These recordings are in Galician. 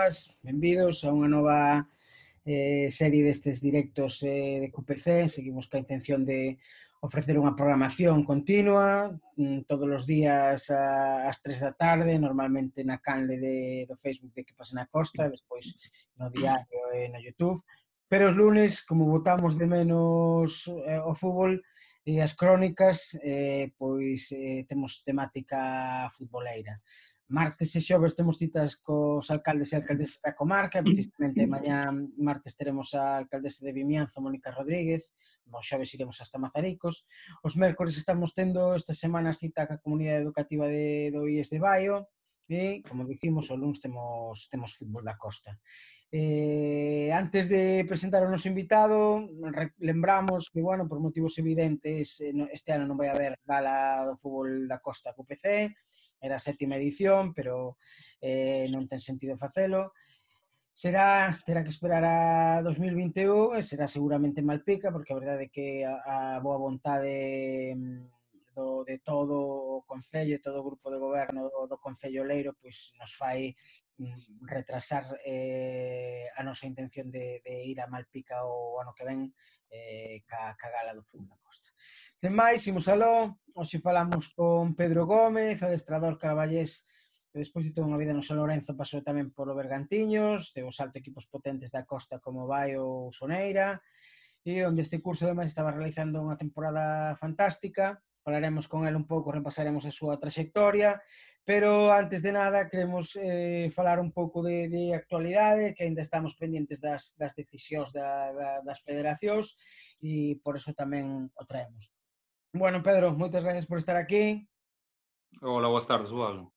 benvidas, benvidos a unha nova serie destes directos de QPC. Seguimos ca intención de ofrecer unha programación continua todos os días ás 3 da tarde, normalmente na canle do Facebook de Que Pase na Costa, despois no diario e no YouTube. Pero os lunes, como botamos de menos o fútbol e as crónicas, pois temos temática futboleira. Martes e xoves temos citas cos alcaldes e alcaldesas da comarca, precisamente mañá martes teremos a alcaldesa de Vimianzo, Mónica Rodríguez, os xoves iremos hasta Mazaricos, os mércores estamos tendo esta semana cita ca comunidade educativa do IES de Baio, e, como dicimos, o luns temos fútbol da Costa. Antes de presentar o noso invitado, lembramos que, bueno, por motivos evidentes, este ano non vai haber gala do fútbol da Costa QPC, era a 7ª edición, pero non ten sentido facelo. Terá que esperar a 2021 e será seguramente en Malpica, porque a verdade é que a boa vontade de todo o Concello e todo o grupo de goberno do Concello Leiro pois nos fai retrasar a nosa intención de ir a Malpica o ano que ven ca gala do fútbol da Costa. Sen máis, imos aló. Hoxe falamos con Pedro Gómez, adestrador carballés que despois de toda unha vida no San Lorenzo pasou tamén polo Bergantiños, de os alto equipos potentes da Costa como Baio ou Soneira, e onde este curso ademais estaba realizando unha temporada fantástica. Falaremos con el un pouco, repasaremos a súa trayectoria, pero antes de nada queremos falar un pouco de actualidade, que ainda estamos pendientes das decisións das federacións e por eso tamén o traemos. Bueno, Pedro, moitas gracias por estar aquí. Hola, boas tardes, Juan.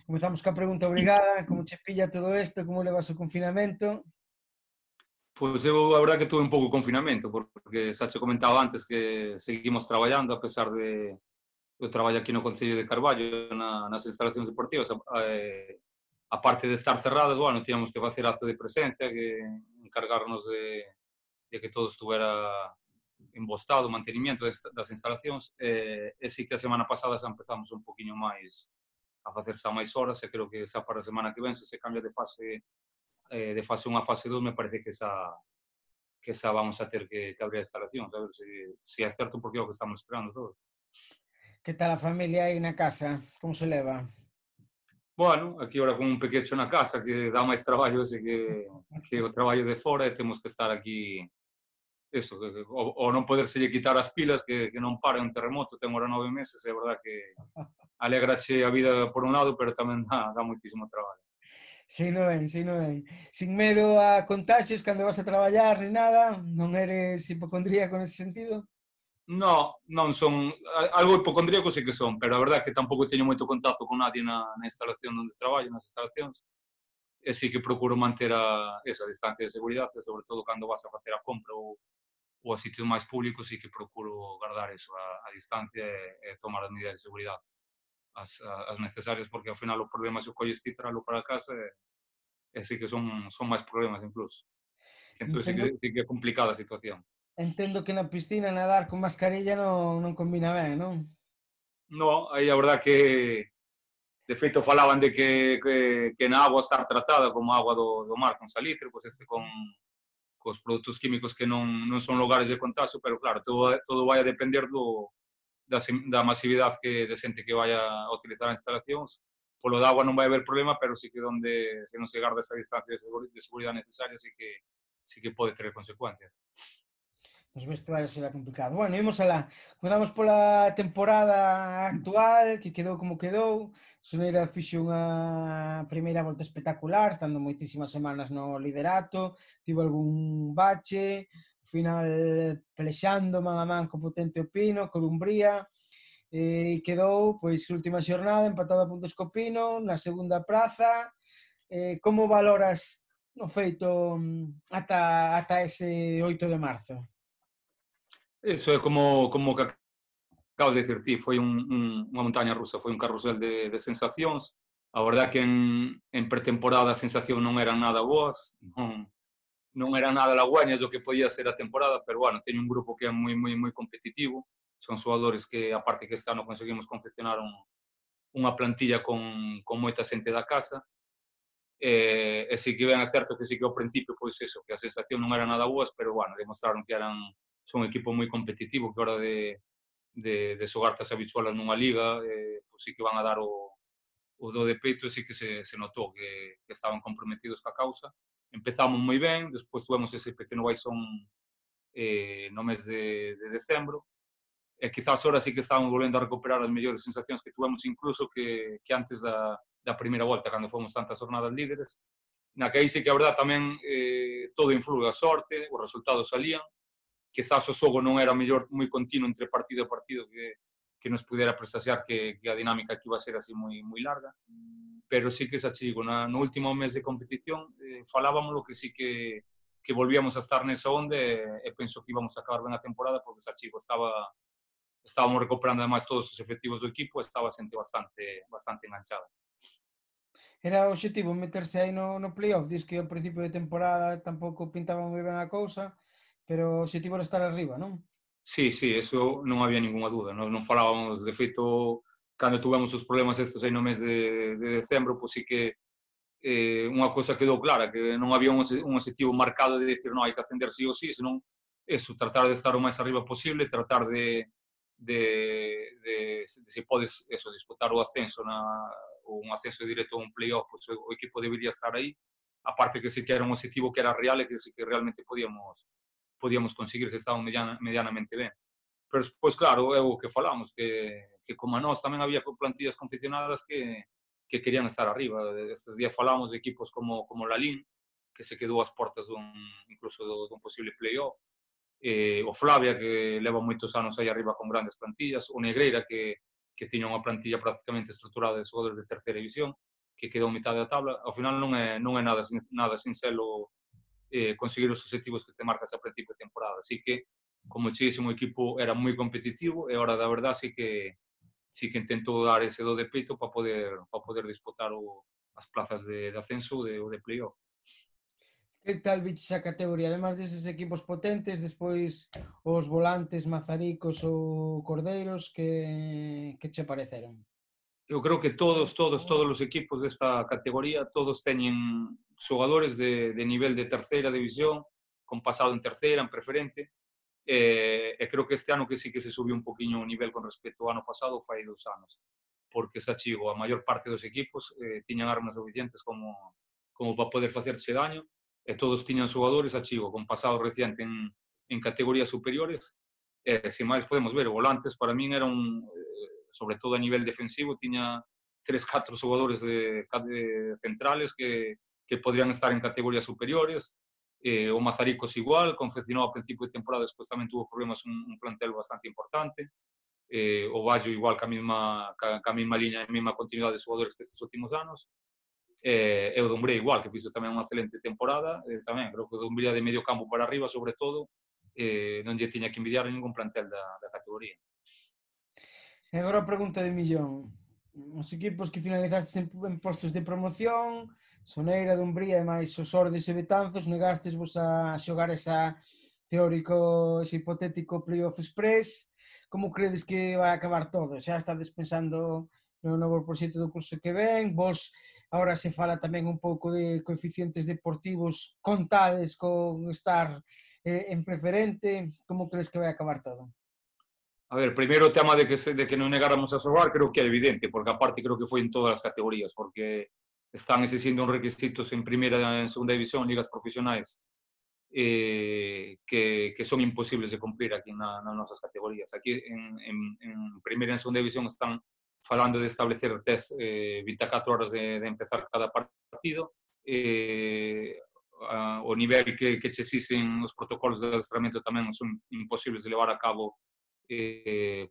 Comezamos ca pregunta obrigada, como che pilla todo isto, como levas o confinamento? Pois eu, a verdade que tuve un pouco de confinamento, porque xa che comentaba antes que seguimos traballando, a pesar de eu traballo aquí no Concello de Carballo, nas instalacións deportivas, a parte de estar cerradas, bueno, tíamos que facer acto de presencia, que encargarnos de que todo estuvera embostado, o mantenimiento das instalacións, e sí que a semana pasada xa empezamos un poquinho máis a facer xa máis horas, e creo que xa para a semana que ven, se cambia de fase 1 a fase 2, me parece que xa vamos a ter que abrir a instalación, a ver se é certo, porque é o que estamos esperando todo. Que tal a familia aí na casa? Como se leva? Bueno, aquí ahora con un pequecho na casa que dá máis traballo ese que o traballo de fora, e temos que estar aquí eso, o non poderselle quitar as pilas, que non para un terremoto, ten ahora 9 meses, é verdad que alegrache a vida por un lado, pero tamén dá moitísimo traballo. Sino ben. Sin medo a contagios cando vas a traballar ni nada? Non eres hipocondríaco nese sentido? Non son, algo hipocondríaco sí que son, pero a verdad que tampouco teño moito contacto con nadie na instalación onde traballo, nas instalacións, e sí que procuro manter esa distancia de seguridade, sobre todo cando vas a facer a compra ou a sitios máis públicos, sí que procuro guardar eso, a distancia e tomar as medidas de seguridade as necesarias, porque ao final o problema se o colles ti tralo para casa e sí que son máis problemas incluso. Entón sí que é complicada a situación. Entendo que na piscina nadar con mascarilla non combina ben, non? No, aí a verdad que de feito falaban de que na agua estar tratada como agua do mar con salitre, pois cos produtos químicos que non son lugares de contagio, pero claro, todo vai a depender da masividade de xente que vai a utilizar as instalacións. Polo de agua non vai haber problema, pero sí que se non se garda esa distancia de seguridade necesaria, sí que pode ter consecuencias. Nos vestuarios será complicado. Bueno, imos alá. Comezamos pola temporada actual, que quedou como quedou. Soneira fixo unha primeira volta espectacular, estando moitísimas semanas no liderato, tivo algún bache, ao final pelexando man a man co potente Opino, co Dumbría, e quedou, pois, última xornada, empatado a puntos co Pino, na segunda praza. Como valoras o feito ata ese 8 de marzo? Eso é como que acabo de dicir ti, foi unha montaña rusa, foi un carrusel de sensacións. A verdad que en pretemporada as sensacións non eran nada boas, non eran nada halagüeñas do que podía ser a temporada, pero bueno, teño un grupo que é moi competitivo, son xogadores que, aparte que este ano conseguimos confeccionar unha plantilla con moita xente da casa, e sí que ben é certo que sí que ao principio, pois eso, que a sensación non era nada boas, pero bueno, demostraron que son un equipo moi competitivo, que a hora de xogar tas habitualas nunha liga, pois sí que van a dar o do de peito, sí que se notou que estaban comprometidos ca causa. Empezamos moi ben, despois tuvemos ese pequeno baixón no mes de decembro, e quizás ahora sí que estamos volvendo a recuperar as mellores sensacións que tuvemos incluso que antes da primeira volta, cando fomos tantas jornadas líderes, na que aí sí que a verdad tamén todo influi, a sorte, os resultados salían, quizás o xogo non era mellor moi continuo entre partido e partido que nos pudera presagiar que a dinámica que iba a ser así moi larga, pero sí que xa chigo, no último mes de competición falábamos que sí que volvíamos a estar nesa onda e penso que íbamos a acabar ben a temporada porque xa chigo estábamos recuperando además todos os efectivos do equipo e estaba a xente bastante enganchada. Era o obxectivo meterse aí no playoff, dis que ao principio de temporada tampouco pintaba moi ben a cousa, pero o obxectivo era estar arriba, non? Sí, sí, eso non había ninguna duda. Nos non falábamos, de feito, cando tuvemos os problemas estes aí no mes de decembro, pois sí que unha cousa quedou clara, que non había un objetivo marcado de decir, non, hai que ascender sí ou sí, senón eso, tratar de estar o máis arriba posible, tratar de se podes eso, disputar o ascenso ou un ascenso directo a un playoff, pues, o equipo debería estar aí, aparte que sí que era un objetivo que era real e que sí que realmente podíamos conseguir se estábamos medianamente ben. Pero despois, claro, é o que falamos, que como a nós tamén había plantillas confeccionadas que querían estar arriba. Estes días falamos de equipos como Lalín, que se quedou ás portas incluso dun posible playoff, o Flavia, que leva moitos anos aí arriba con grandes plantillas, o Negreira, que tiña unha plantilla prácticamente estruturada de xogadores de terceira división, que quedou mitad da tabla. Ao final non é nada sincero conseguir os objetivos que te marcas a principio de temporada. Así que, como che dixen, o equipo era moi competitivo e ahora, da verdad, sí que intento dar ese do de peito para poder disputar as plazas de ascenso ou de playoff. Que tal biches a categoría? Además deses equipos potentes, despois os volantes, Mazaricos ou Cordeiros, que che pareceron? Eu creo que todos os equipos desta categoría, todos teñen xogadores de nivel de terceira división, con pasado en terceira, en preferente, e creo que este ano que sí que se subiu un poquinho o nivel con respecto ao ano pasado, fai 2 anos, porque xa chigo, a maior parte dos equipos tiñan armas suficientes como para poder facerse daño, e todos tiñan xogadores a chigo, con pasado reciente en categorías superiores, e se máis podemos ver, o Volantes para min era sobre todo a nivel defensivo, tiña 3, 4 xogadores de centrales que podrían estar en categorías superiores, o Mazaricos igual, confeccionou a principio de temporada, despois tamén tuvo problemas un plantel bastante importante, o Bayo igual ca mesma liña e mesma continuidade de xogadores que estes últimos anos, e o Dumbré igual, que fixo tamén unha excelente temporada, tamén creo que o Dumbré de medio campo para arriba, sobre todo, non lle tiña que envidiar a ningún plantel da categoría. E agora a pregunta de millón. Os equipos que finalizastes en postos de promoción, Soneira, Dumbría e máis os Ordes e Betanzos, negastes vos a xogar ese hipotético playoff express. Como credes que vai acabar todo? Xa estades pensando no novo proxecto do curso que ven? Vos, agora se fala tamén un pouco de coeficientes deportivos, contades con estar en preferente. Como crees que vai acabar todo? A ver, primeiro o tema de que non negáramos a xogar creo que é evidente, porque aparte creo que foi en todas as categorías, porque están existindo uns requisitos en primeira e en segunda división, ligas profesionais, que son imposibles de cumplir aquí nas nosas categorías. Aquí en primeira e en segunda división están falando de establecer test 24 horas de empezar cada partido, o nivel que che exixen os protocolos de adestramento tamén son imposibles de levar a cabo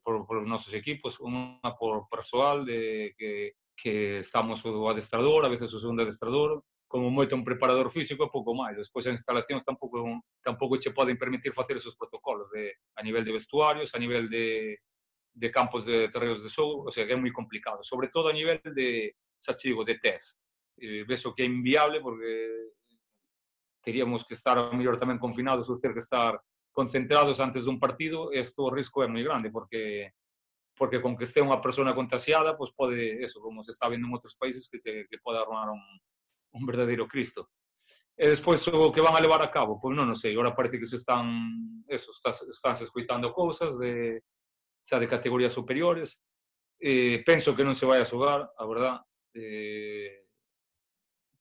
por os nosos equipos, unha por persoal que estamos o adestrador, a veces o segundo adestrador, como moito un preparador físico e pouco máis. Despois as instalacións tampouco che poden permitir facer esos protocolos a nivel de vestuarios, a nivel de campos de terreos de xogo, o sea, que é moi complicado, sobre todo a nivel xa chigo, de test. Ves o que é inviable porque teríamos que estar a mellor tamén confinados ou ter que estar concentrados antes dun partido, isto o risco é moi grande, porque con que este unha persona contagiada, pois pode, eso, como se está vendo en outros países, que pode arruinar un verdadeiro Cristo. E despois o que van a levar a cabo, pois non sei, agora parece que se están se escoitando cousas xa de categorías superiores. Penso que non se vai a xogar, a verdad.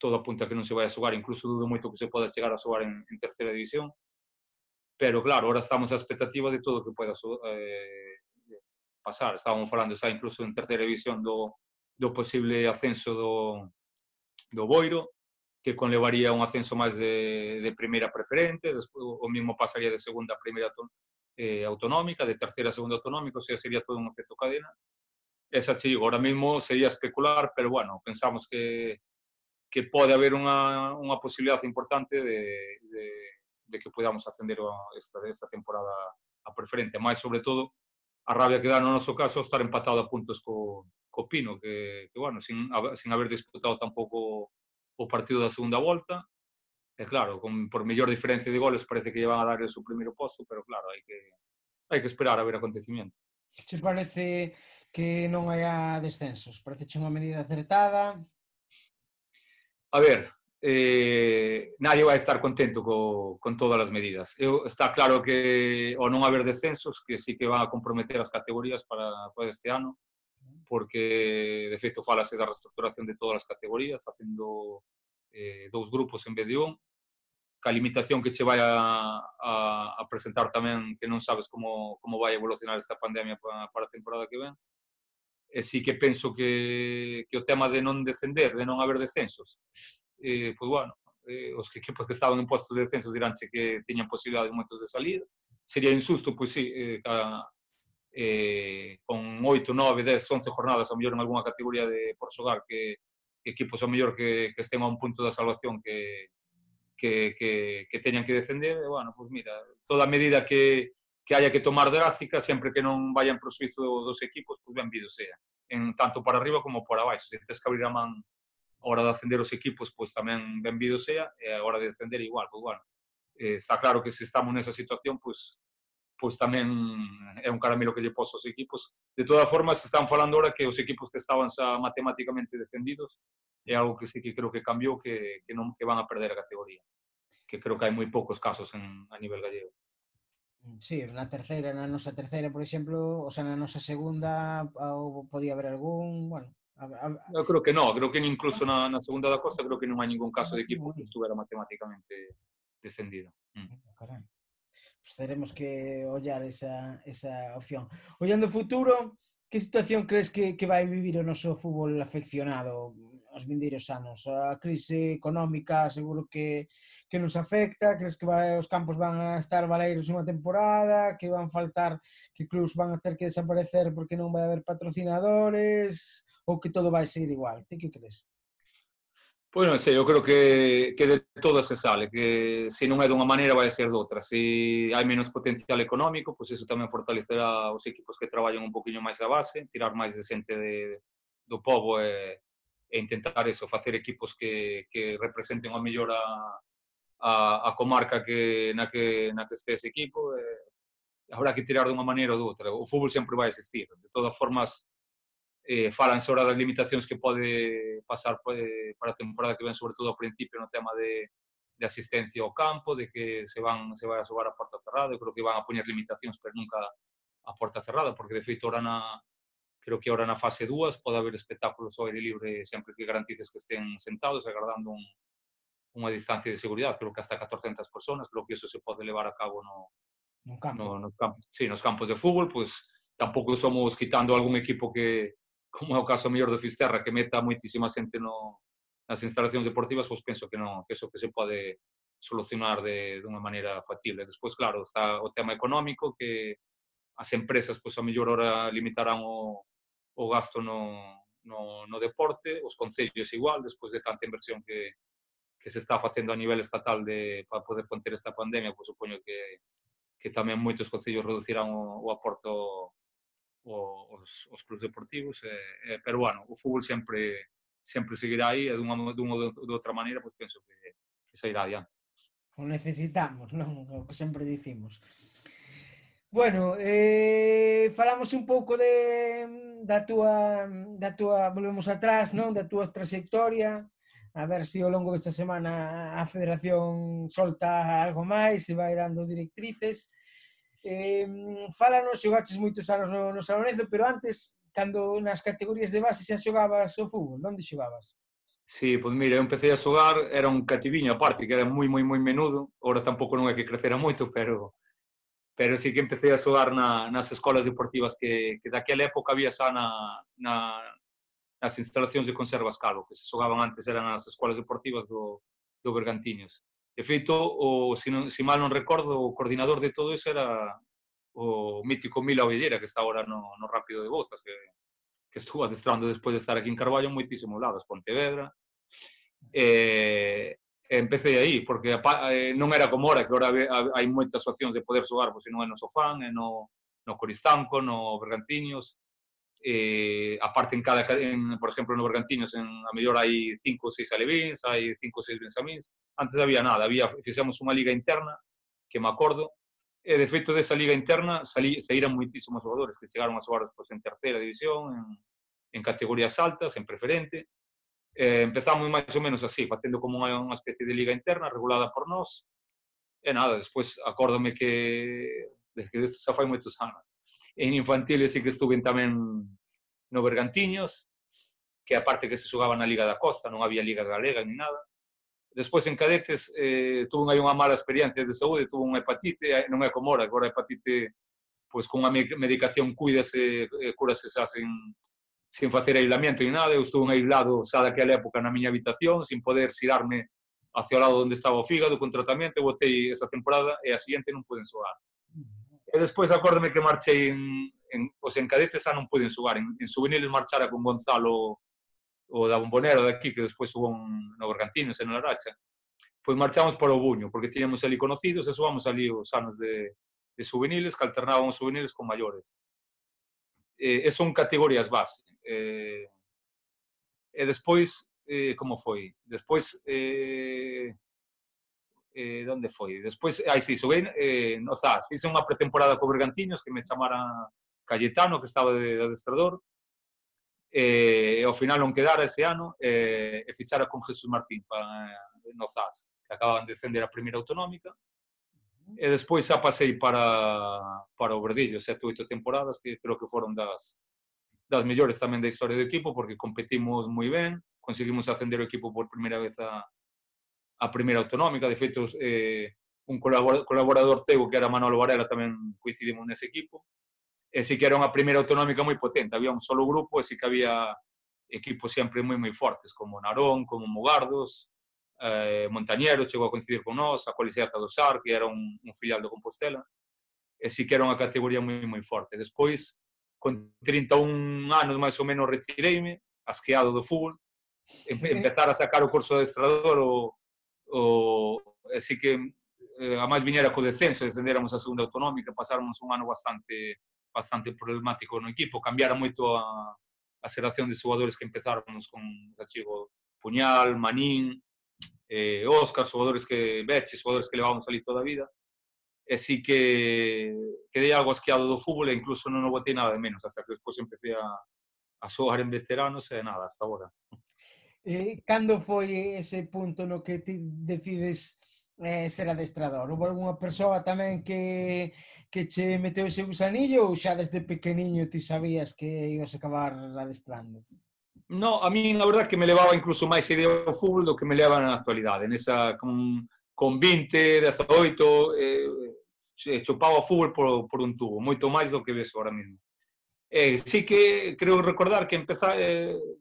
Todo apunta a que non se vai a xogar, incluso dudo moito que se poda chegar a xogar en terceira división. Pero claro, ahora estamos a expectativa de todo o que poida pasar. Estábamos falando xa incluso en terceira división do posible ascenso do Boiro, que conlevaría un ascenso máis de primeira preferente, despois o mismo pasaría de segunda a primeira autonómica, de terceira a segunda autonómica, o sea, sería todo un efecto cadena. Esa chigo, ahora mismo sería especular, pero bueno, pensamos que pode haber unha posibilidade importante de que podamos ascender esta temporada a preferente, máis sobre todo a rabia que dá no noso caso estar empatado a puntos co Pino, que bueno, sin haber disputado tampouco o partido da segunda volta, e claro, por mellor diferencia de goles parece que lle van a dar o seu primeiro posto, pero claro, hai que esperar a ver acontecimientos. Que che parece que non haya descensos? Parece unha medida acertada? A ver, nadie vai estar contento con todas as medidas. Está claro que ao non haber descensos, que sí que van a comprometer as categorías para este ano, porque de feito falase da reestructuración de todas as categorías, facendo 2 grupos en vez de un, ca limitación que che vai a presentar tamén que non sabes como vai evolucionar esta pandemia para a temporada que ven. E sí que penso que o tema de non descender, de non haber descensos, pois bueno, os equipos que estaban en postos de descenso diránche que tiñan posibilidades moitos de salir. Sería injusto, pois sí, con 8, 9, 10, 11 jornadas, a mellor en algunha categoría por xogar, que equipos a mellor que estén a un punto da salvación que teñan que descender, e, bueno, pois mira, toda medida que haya que tomar drástica, sempre que non vayan pro suizo dos equipos, pois benvido sea, tanto para arriba como para abaixo. Se tens que abrir a man a hora de ascender os equipos, pois tamén benvido sea, e a hora de descender igual, pois bueno, está claro que se estamos nesa situación, pois tamén é un caramelo que lle poso aos equipos. De todas formas, están falando ahora que os equipos que estaban xa matemáticamente descendidos é algo que sí que creo que cambiou, que van a perder a categoría, que creo que hai moi poucos casos a nivel gallego. Sí, na nosa terceira, por exemplo, o sea, na nosa segunda podía haber algún, bueno... Eu creo que non, creo que incluso na segunda da Costa creo que non hai ningún caso de equipo que estuvera matemáticamente descendido. Carai. Pues teremos que ollar esa opción. Ollando o futuro, que situación crees que vai vivir o noso fútbol afeccionado os vindeiros anos? A crise económica seguro que nos afecta, crees que os campos van a estar baleiros unha temporada, que van faltar, que clubs van a ter que desaparecer porque non vai haber patrocinadores, ou que todo vai seguir igual? Ti que crees? Pois non sei, eu creo que de todas se sale, que se non é dunha maneira vai ser doutra. Se hai menos potencial económico, pois iso tamén fortalecerá os equipos que traballan un poquinho máis a base, tirar máis de xente do pobo e intentar eso, facer equipos que representen ao mellor a comarca na que este ese equipo. Habrá que tirar dunha maneira ou doutra. O fútbol sempre vai existir. De todas formas, falanse ahora das limitacións que pode pasar para a temporada que ven, sobre todo ao principio, no tema de asistencia ao campo, de que se vai a xogar a porta cerrada. Eu creo que van a poñer limitacións, pero nunca a porta cerrada, porque de feito creo que ahora na fase 2 pode haber espectáculos ao aire libre sempre que garantices que estén sentados agardando unha distancia de seguridade, creo que hasta 400 personas, creo que iso se pode levar a cabo nos campos de fútbol. Pois tampouco somos quitando algún equipo que, como é o caso mellor do Fisterra, que meta moitísima xente nas instalacións deportivas, pois penso que non, que eso que se pode solucionar dunha maneira factible. Despois, claro, está o tema económico, que as empresas, pois a mellor hora limitarán o gasto no deporte, os concellos igual, despois de tanta inversión que se está facendo a nivel estatal para poder conter esta pandemia, pois supoño que tamén moitos concellos reducirán o aporto os clubes deportivos, pero bueno, o fútbol sempre seguirá aí, e dunha ou de outra maneira, pois penso que sairá adiante. O necesitamos, non? O que sempre dicimos. Bueno, falamos un pouco da túa volvemos atrás, non? Da túa trayectoria, a ver se ao longo desta semana a Federación solta algo máis e vai dando directrices. Fálanos, xogaches moitos anos no San Lorenzo, pero antes, cando nas categorías de base xa xogabas o fútbol, onde xogabas? Sí, pois mira, eu empecé a xogar, era un cativiño aparte, que era moi menudo, ahora tampouco non é que crecera moito, pero sí que empecé a xogar nas escolas deportivas que daquela época había xa nas instalacións de Conservas Calvo, que se xogaban antes eran as escolas deportivas do Bergantiños. De feito, se mal non recordo, o coordinador de todo iso era o mítico Mila Ovellera, que está agora no Rápido de Bouzas, que estuvo adestrando despois de estar aquí en Carballo en moitísimos lados, Pontevedra. Empecé aí, porque non era como ahora, que ahora hai moitas opcións de poder xogar, pois se non é no Sofán, é no Coristanco, no Bergantiños, aparte por exemplo, no Bergantiños a mellor hai 5 ou 6 alevíns, hai 5 ou 6 bensamíns, antes había nada, fixemos unha liga interna, que me acordo, e de feito desa liga interna saíran moitísimos xogadores que chegaron a xogar despois en terceira división, en categorías altas, en preferente. Empezamos máis ou menos así, facendo como unha especie de liga interna regulada por nós, e nada, despois acórdome que xa fai moitos anos. En infantiles sí que estuve tamén no Bergantiños, que aparte que se xogaba na Liga da Costa, non había Liga Galega ni nada. Despois en cadetes tuve aí unha mala experiencia de saúde, tuve unha hepatite, non é como agora a hepatite, pois con unha medicación cúrase xa sin facer aislamiento ni nada. Eu estuve aislado xa daquela época na miña habitación, sin poder xirarme hacia o lado onde estaba o fígado con tratamento. Eu botei esa temporada e a seguinte non pude xogar. E despois acórdame que marchei en cadetes xa non pude xogar. En juveniles marchara con Gonzalo, o da Bombonera daqui, que despois xogou no Bergantiños e no Laracha. Pois marchamos para o Buño, porque tiñamos ali conocidos e xogamos ali os anos de juveniles, que alternábamos juveniles con maiores. E son categorías base. E despois, como foi? Despois, onde foi? Despois, sí, xoguei no Zas, fixe unha pretemporada co Bergantiños, que me chamara Cayetano, que estaba de adestrador, e ao final non quedara ese ano, e fichara con Jesús Martín no Zas, que acababan de descender a primeira autonómica, e despois xa pasei para o Verdillo, 7 ou 8 temporadas, que creo que foron das mellores tamén da historia do equipo, porque competimos moi ben, conseguimos ascender o equipo por primeira vez a primeira autonómica. De feito, un colaborador teu, que era Manolo Varela, tamén coincidimos nese equipo, e sí que era unha primeira autonómica moi potente, había un solo grupo e sí que había equipos sempre moi fortes, como Narón, como Mugardos, Montañero chegou a coincidir con nós, a Colexiata do Sar, que era un filial do Compostela, e sí que era unha categoría moi forte. Despois, con 31 anos máis ou menos, retireime, asqueado do fútbol, empezar a sacar o curso de adestrador, e sí que a máis viñera co descenso, descenderamos a segunda autonómica, pasáramos un ano bastante problemático no equipo, cambiara moito a xeración de xogadores que empezáramos con Gachigo, Puñal, Manín, Óscar, xogadores que levábamos ali toda a vida, e sí que quedei algo asqueado do fútbol e incluso non o botei nada de menos, hasta que despois empecé a xogar en veteranos e nada, hasta agora. Cando foi ese punto no que ti decides ser adestrador? Houve algunha persoa tamén que che meteu ese gusanillo ou xa desde pequeniño ti sabías que ibas a acabar adestrando? No, a mí a verdad que me levaba incluso máis idea ao fútbol do que me leva na actualidade. Con 20, 18, chupaba o fútbol por un tubo, moito máis do que ves ahora mesmo. Sí que creo recordar que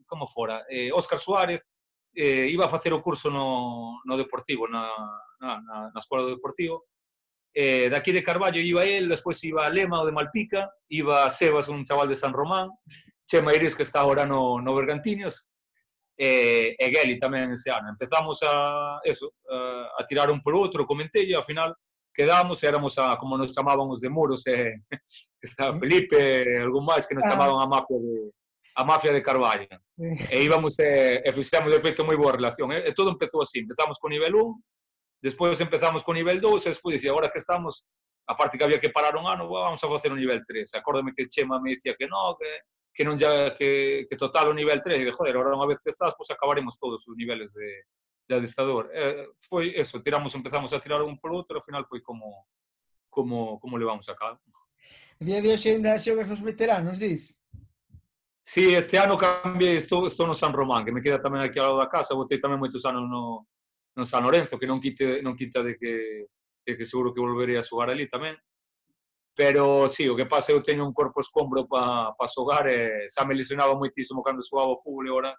como fora, Óscar Suárez iba a facer o curso no Deportivo, na Escola do Deportivo. Daqui de Carballo iba él, despois iba Lema, o de Malpica, iba Sebas, un chaval de San Román, Chema Iris, que está agora no Bergantiños, e Geli tamén ese ano. Empezamos a tirar un por outro, comentei, e ao final quedamos, éramos como nos chamábamos de Muros, estaba Felipe, algún máis que nos chamaban a mafia de Carballo. E íbamos e fixemos de feito moi boa relación. E todo empezou así, empezamos con nivel 1, despois empezamos con nivel 2, e despois dicía, agora que estamos, aparte que había que parar un ano, vamos a facer un nivel 3. Acórdame que Chema me dicía que non, que que non ya, que total o nivel 3, e de joder, ahora unha vez que estás, pues acabaremos todos os niveles de adestrador. Foi eso, empezamos a tirar un polo outro, ao final foi como levamos a cabo. A día de hoxe ainda xogas os veteranos, dis? Sí, este ano cambiei, estou no San Román, que me queda tamén aquí ao lado da casa, botei tamén moitos anos no San Lorenzo, que non quita de que seguro que volverei a xogar ali tamén. Pero sí, o que pasa, eu teño un corpo escombro para xogar, e xa me lesionaba moitísimo cando xogaba o fútbol,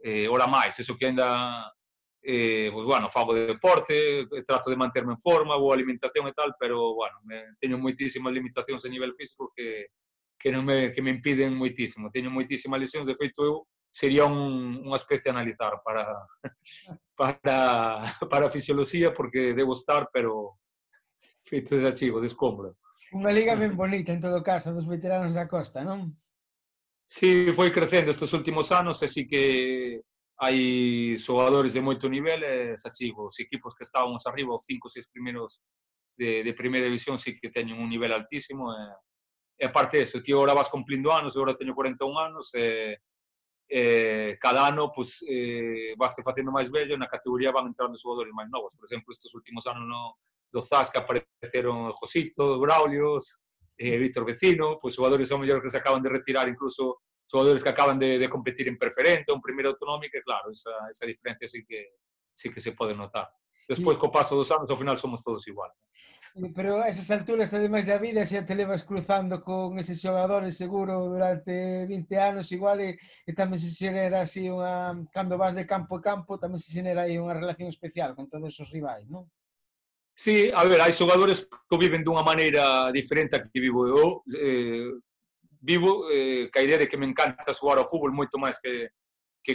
e ora máis, eso que ainda, pues, bueno, fago de deporte, trato de manterme en forma, boa alimentación e tal, pero, bueno, teño moitísimas limitacións a nivel físico que me impiden moitísimo. Teño moitísimas lesións, de feito, eu sería unha especie a analizar para a fisioloxía, porque debo estar, pero feito de archivo, de escombro. Unha liga ben bonita, en todo caso, dos veteranos da Costa, non? Sí, foi crecendo estes últimos anos, e sí que hai xogadores de moito nivel, e xa chigo, os equipos que estábamos arriba, os 5 ou 6 primeiros de primeira división, sí que teñen un nivel altísimo, e aparte eso, tío, ahora vas cumplindo anos, eu agora teño 41 anos, cada ano pues, vaste facendo máis vello, na categoría van entrando xogadores máis novos. Por exemplo, estes últimos anos do Zasca apareceron Josito, Braulios, Víctor Vecino, pues xogadores ao mellor que se acaban de retirar, incluso xogadores que acaban de competir en preferente, en primeira autonómica, e claro, esa diferencia sí que se pode notar. Despois, co paso dos anos, ao final somos todos igual. Pero a esas alturas, ademais da vida, xa te levas cruzando con eses xogadores seguro durante 20 anos igual, e tamén se xenera así unha... Cando vas de campo a campo, tamén se xenera aí unha relación especial con todos os rivais, non? Sí, a ver, hai xogadores que viven dunha maneira diferente a que vivo eu. Vivo ca idea de que me encanta xogar ao fútbol moito máis que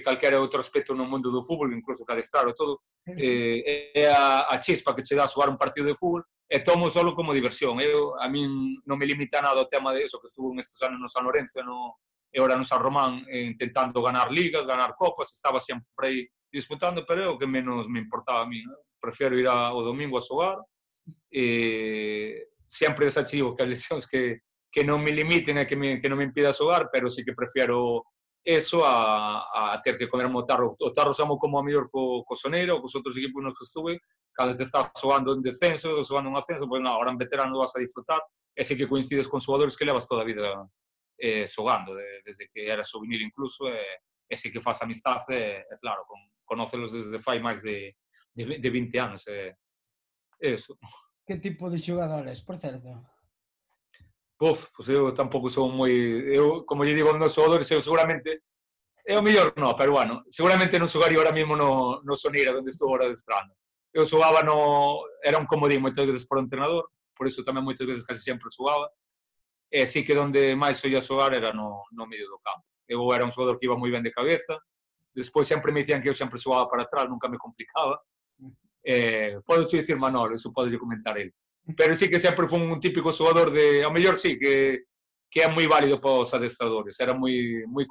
calquera outro aspecto no mundo do fútbol, incluso que adestrar ou todo. É a chispa que che dá xogar un partido de fútbol, e tomo solo como diversión. A min non me limita nada o tema de eso, que estuvo estes anos no San Lorenzo e ora no San Román, intentando ganar ligas, ganar copas, estaba sempre aí disputando, pero é o que menos me importaba a mí. Prefiero ir o domingo a xogar, sempre desachivo que as lesións que non me limiten e que non me impida xogar, pero sí que prefiero eso a ter que comerme o tarro. O tarro xamo como a mellor co Soneira ou cos outros equipos nos que estuve, cando te estás xogando en descenso, xogando en ascenso, pois non, agora en veterano vas a disfrutar, e sí que coincides con xogadores que levas toda a vida xogando, desde que eras juvenil incluso, e sí que faz amistade, e claro, conócelos desde fai máis de 20 anos, eso. Que tipo de xogadores, por certo? Pues eu tampouco son moi... Eu, como lle digo aos meus xogadores, eu seguramente... É o mellor non, pero bueno, seguramente non xogaría ahora mesmo no Soneira, onde estou agora adestrando. Eu xogaba Era un comodín moitas veces por entrenador, por iso tamén moitas veces casi sempre xogaba, e sí que onde máis soía xogar era no medio do campo. Eu era un xogador que iba moi ben de cabeza, despois sempre me dicían que eu sempre xogaba para atrás, nunca me complicaba. Podo dicir Manolo, eso pode comentar ele. Pero sí que sempre foi un típico xogador ao mellor sí, que é moi válido para os adestradores, era moi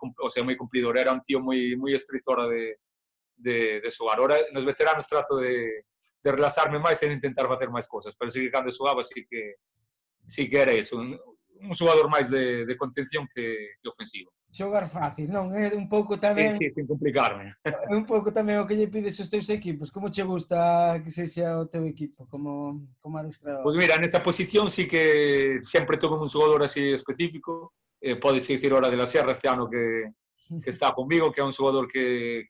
cumplidor, era un tío moi estritora de xogar. Ora, nos veteranos trato de relaxarme máis e de intentar facer máis cosas, pero sí que cando xogaba sí que era eso, un xogador máis de contención que ofensivo. Xogar fácil, non? É un pouco tamén... Sí, sin complicarme. É un pouco tamén o que lle pides aos teus equipos. Como che gusta que sexa o teu equipo como adestrador? Pois mira, nesa posición sí que sempre tuve un xogador así específico. Podes dicir hora de la Sierra este ano que está conmigo, que é un xogador que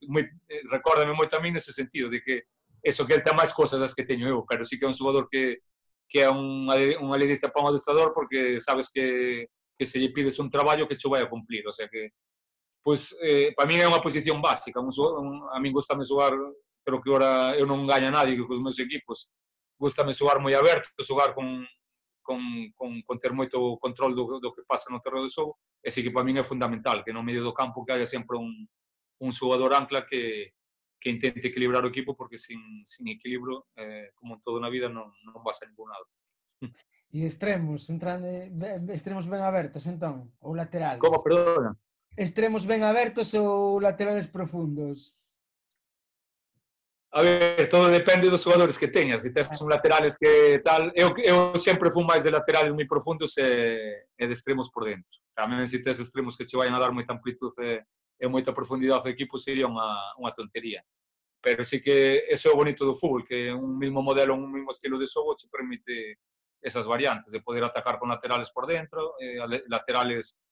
recórdame moito a mí nese sentido, de que eso, que ele ten máis cosas das que teño eu, pero sí que é un xogador que é unha ledicia para un adestrador, porque sabes que se lle pides un traballo que cho vai a cumplir, o sea que pois, para mí é unha posición básica. A min gustame xogar, pero que ora eu non gaño a nadie cos meus equipos. Gústame xogar moi aberto, xogar con ter moito control do que pasa no terreno de xogo, e sí que para min é fundamental que no medio do campo que haya sempre un xogador ancla que intente equilibrar o equipo, porque sin equilibrio, como en todo na vida, non vas a ningún lado. E extremos ben abertos, entón, ou laterales? Como, perdona? Extremos ben abertos ou laterales profundos? A ver, todo depende dos xogadores que teñas. Se tes un laterales que tal... Eu sempre fui máis de laterales moi profundos e de extremos por dentro. Tamén se tes extremos que che vayan a dar moita amplitude e moita profundidade ao equipo sería unha tontería. Pero sí que eso é o bonito do fútbol, que un mismo modelo, un mismo estilo de xogo che permite esas variantes de poder atacar con laterales por dentro, laterales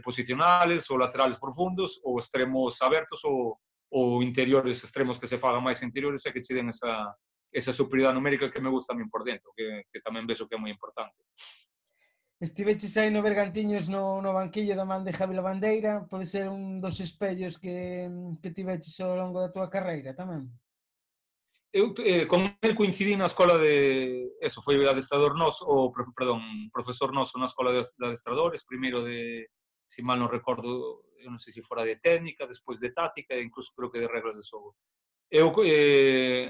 posicionales ou laterales profundos ou extremos abertos ou interiores extremos que se fagan máis interiores e que che den esa superioridade numérica que me gusta a min por dentro, que tamén vexo que é moi importante. Estiveches aí no Bergantiños no banquillo da man de Javi Lavandeira, pode ser un dos espellos que tiveches ao longo da túa carreira tamén. Eu con el coincidí na escola de... Eso, foi adestrador noso, perdón, profesor noso na escola de adestradores, primeiro de, si mal non recordo, eu non sei se fora de técnica, despois de táctica e incluso creo que de reglas de xogo. Eu,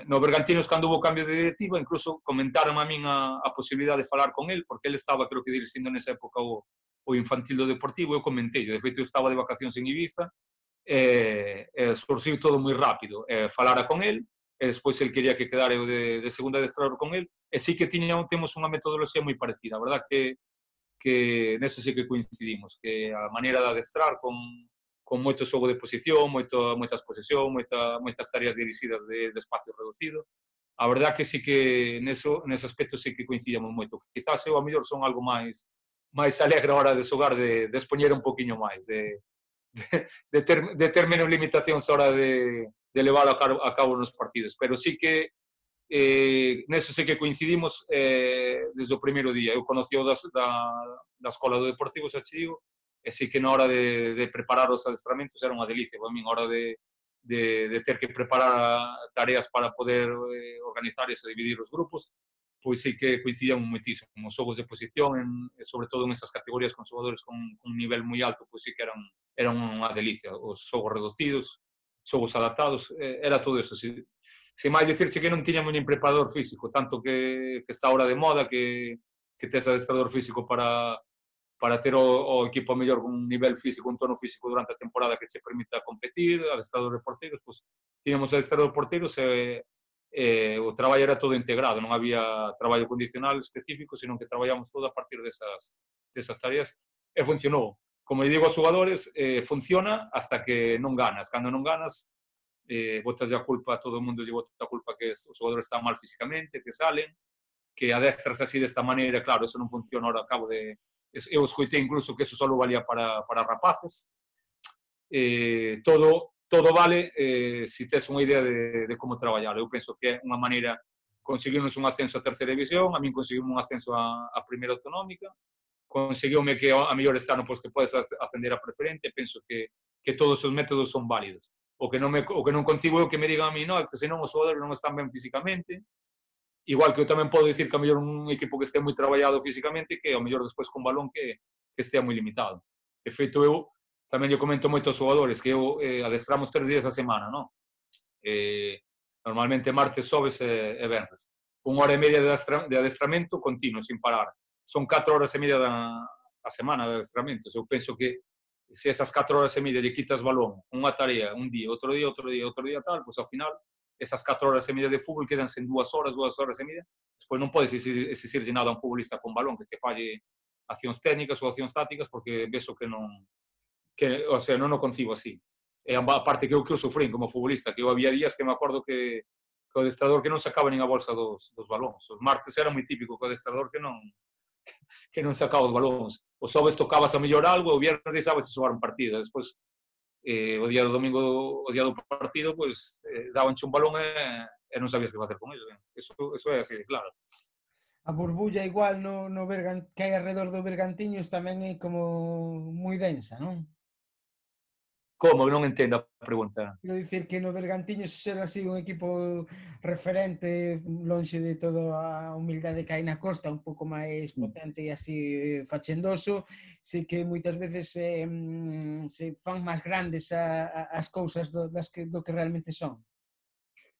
no Bergantinos, cando hubo cambio de directiva, incluso comentaron a min a posibilidade de falar con el, porque ele estaba, creo que dirixindo nesa época o infantil do Deportivo, eu comentei, de feito eu estaba de vacacións en Ibiza, surxiu todo moi rápido, falara con el, e despois el quería que quedara eu de segunda adestrador con el, e sí que temos unha metodoloxía moi parecida, a verdad que neso sí que coincidimos, que a maneira de adestrar con moito xogo de posición, moitas posesión, moitas tareas dirixidas de espacio reducido, a verdad que sí que nese aspecto sí que coincidimos moito. Quizás eu a mellor son algo máis alegre a hora de xogar, de expoñer un poquinho máis, de ter menos limitacións a hora de levar a cabo nos partidos, pero sí que neso sí que coincidimos desde o primeiro día. Eu conocí o da escola do Deportivo, xa che digo, e sí que na hora de preparar os adestramentos era unha delicia para min, a hora de ter que preparar tareas para poder organizar e dividir os grupos, pois sí que coincidíamos moitísimo. Os xogos de posición, sobre todo en esas categorías con xogadores con un nivel moi alto, pois sí que eran unha delicia. Os xogos reducidos, xogos adaptados, era todo eso. Se máis dicirche que non tiñamos nin preparador físico, tanto que está ahora de moda, que tes adestrador físico para ter o equipo mellor con un nivel físico, un tono físico durante a temporada que se permita competir, adestrador de porteiros, pois tiñamos adestrador de porteiros o traballo era todo integrado, non había traballo condicional específico, senón que traballamos todo a partir desas tareas e funcionou. Como digo aos xogadores, funciona hasta que non ganas. Cando non ganas, botas a culpa, todo o mundo lle bota a culpa que os xogadores están mal físicamente, que salen, que adestras así desta maneira, claro, eso non funciona ahora ao cabo de... Eu escoitei incluso que eso só valía para rapaces. Todo vale se tes unha idea de como traballar. Eu penso que é unha maneira, conseguimos un ascenso a terceira división, a min conseguimos un ascenso a primeira autonómica, conseguiume que a mellor este ano pois, que podes ascender a preferente, penso que todos os métodos son válidos. O que non consigo é o que me digan a mí, no, que senón os xogadores non están ben físicamente, igual que eu tamén podo dicir que a mellor un equipo que este moi traballado físicamente, que a mellor despois con balón que estea moi limitado. De feito, eu tamén lle comento moito aos xogadores que eu adestramos 3 días a semana, non? Normalmente martes, xoves e venres. 1 hora e media de adestramento continuo, sin parar. Son 4 horas e media a semana de adestramento. Eu penso que se esas 4 horas e media lle quitas balón, unha tarea, un día, outro día tal, pois ao final esas 4 horas e media de fútbol quedanse en 2 horas e media. Despois non podes exigirlle nada a un futbolista con balón que te falle accións técnicas ou accións tácticas porque vexo que non o concibo así. E a parte que eu sufrín como futbolista, que eu había días que me acordo que o adestrador que non sacaba nin a bolsa dos balóns. Os martes era moi típico que o adestrador que non sacaba os balóns. Os xoves tocabas a mellor algo, o viernes deixabas de xogar un partido. Despois, o día do domingo, o día do partido, pois, dabanche un balón e non sabías que facer con ele. Eso é así de claro. A burbulla igual que hai alrededor do Bergantiños tamén é como moi densa, non? Como? Non entendo a pregunta. Quero dicir que no Bergantiños ser así un equipo referente lonxe de toda a humildade que hai na Costa, un pouco máis potente e así fachendoso, sei que moitas veces se fan máis grandes as cousas do que realmente son.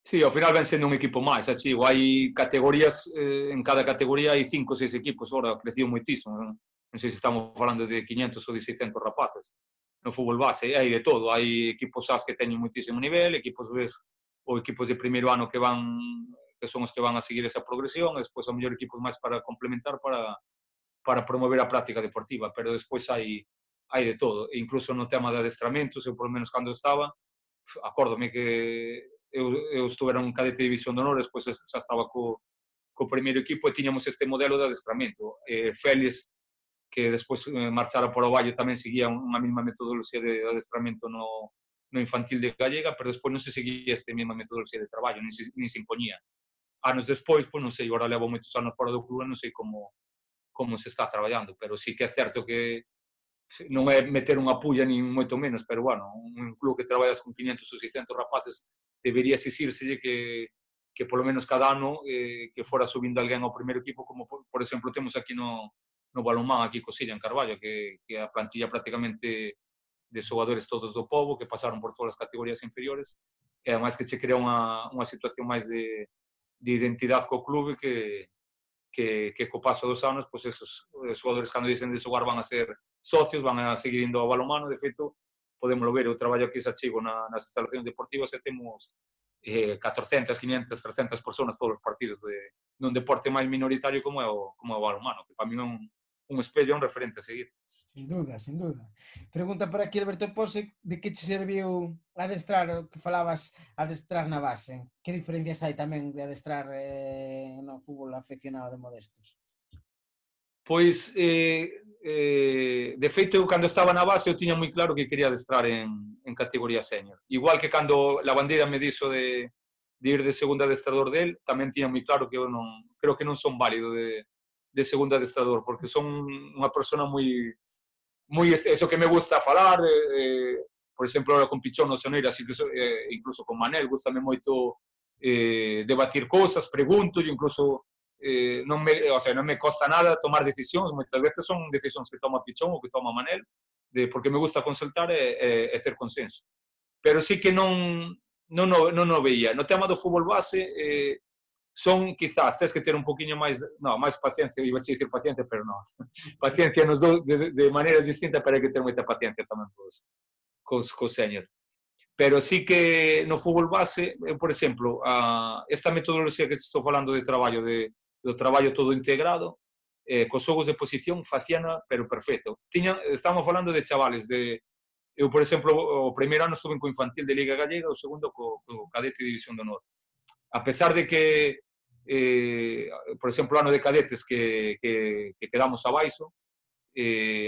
Sí, ao final ven sendo un equipo máis, achigo. Hai categorías, en cada categoría hai 5 ou 6 equipos, ahora creciu moitísimo. Non sei se estamos falando de 500 ou de 600 rapaces. No fútbol base hai de todo, hai equipos As que teñen moitísimo nivel, equipos B ou equipos de primeiro ano que son os que van a seguir esa progresión, e despois a mellor equipos máis para complementar para promover a práctica deportiva, pero despois hai de todo, e incluso no tema de adestramentos, eu por lo menos cando estaba, acórdome que eu estuvera en cadete de división de honor, despois xa estaba co primeiro equipo e tiñamos este modelo de adestramento. Félix, que despois marchara por o Valle, tamén seguía unha mesma metodoloxía de adestramento no infantil de Gallega, pero despois non se seguía esta mesma metodoloxía de traballo, nin se imponía. Anos despois, pois non sei, agora levo moitos anos fora do clube, non sei como se está traballando, pero sí que é certo que non é meter unha pulla nin moito menos, pero bueno, un club que traballas con 500 ou 600 rapaces debería exixírselle que polo menos cada ano que fora subindo alguén ao primeiro equipo, como por exemplo temos aquí no balonmán, aquí co Silla en Carballo, que a plantilla prácticamente de xogadores todos do pobo, que pasaron por todas as categorías inferiores, e ademais que che crea unha situación máis de identidade co clube que co paso dos anos, pois esos xogadores cando dicen de xogar van a ser socios, van a seguir indo ao balonmano. De feito, podémoslo ver, eu traballo aquí xa chigo nas instalacións deportivas e temos 400, 500, 300 personas todos os partidos nun deporte máis minoritario como é o balonmano, que para mí é un espello, un referente a seguir. Sin duda, sin duda. Pregunta por aquí Alberto Pose, de que che serviu adestrar, o que falabas, adestrar na base? Que diferencias hai tamén de adestrar no fútbol afeccionado de Modestos? Pois, de feito, eu cando estaba na base eu tiña moi claro que quería adestrar en categoría senior. Igual que cando la bandeira me dixo de ir de segundo adestrador del, tamén tiña moi claro que eu non, creo que non son válido de segundo adestrador, porque son unha persona moi eso que me gusta falar, por exemplo, ahora con Pichón no Soneira, así que incluso con Manel, gustame moito debatir cousas, pregunto, e incluso non me costa nada tomar decisións, moitas veces son decisións que toma Pichón ou que toma Manel, porque me gusta consultar e ter consenso. Pero sí que non o veía. No tema do fútbol base, son, quizás, tens que ter un poquinho máis paciencia, iba a dicir paciencia, pero non. Paciencia nos dou de maneiras distintas, pero hai que ter moita paciencia tamén cos senior. Pero sí que no fútbol base, por exemplo, esta metodoloxía que estou falando de traballo, do traballo todo integrado, cos xogos de posición, facíana, pero perfecto. Estamos falando de chavales, eu, por exemplo, o primeiro ano estuve co infantil de Liga Gallega, o segundo co cadete de División de Honor. A pesar de que, por exemplo, o ano de cadetes que quedamos abaixo,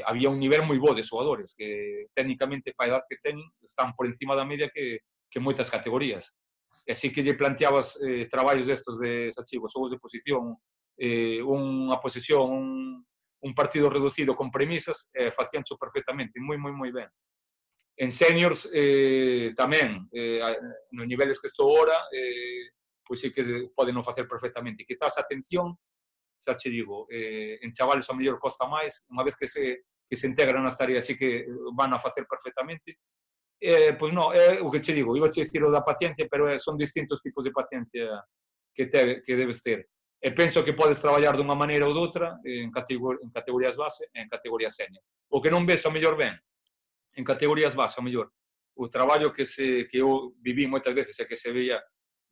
había un nivel moi bo de xogadores que técnicamente para a edad que ten están por encima da media que moitas categorías. E así que lle planteabas traballos destos de Sachigo, xogos de posición, unha posesión, un partido reducido con premisas, facíancho perfectamente, moi ben. En seniors tamén, nos niveles que estou ahora, pois sí que poden non facer perfectamente. Quizás a atención, xa che digo, en chavales ao mellor costa máis, unha vez que se integran nas tareas sí que van a facer perfectamente. Pois non, é o que che digo, iba a che dicir o da paciencia, pero son distintos tipos de paciencia que debes ter. E penso que podes traballar dunha maneira ou doutra en categorías base e en categorías senior. O que non ves ao mellor ben, en categorías base ao mellor, o traballo que eu viví moitas veces e que se veía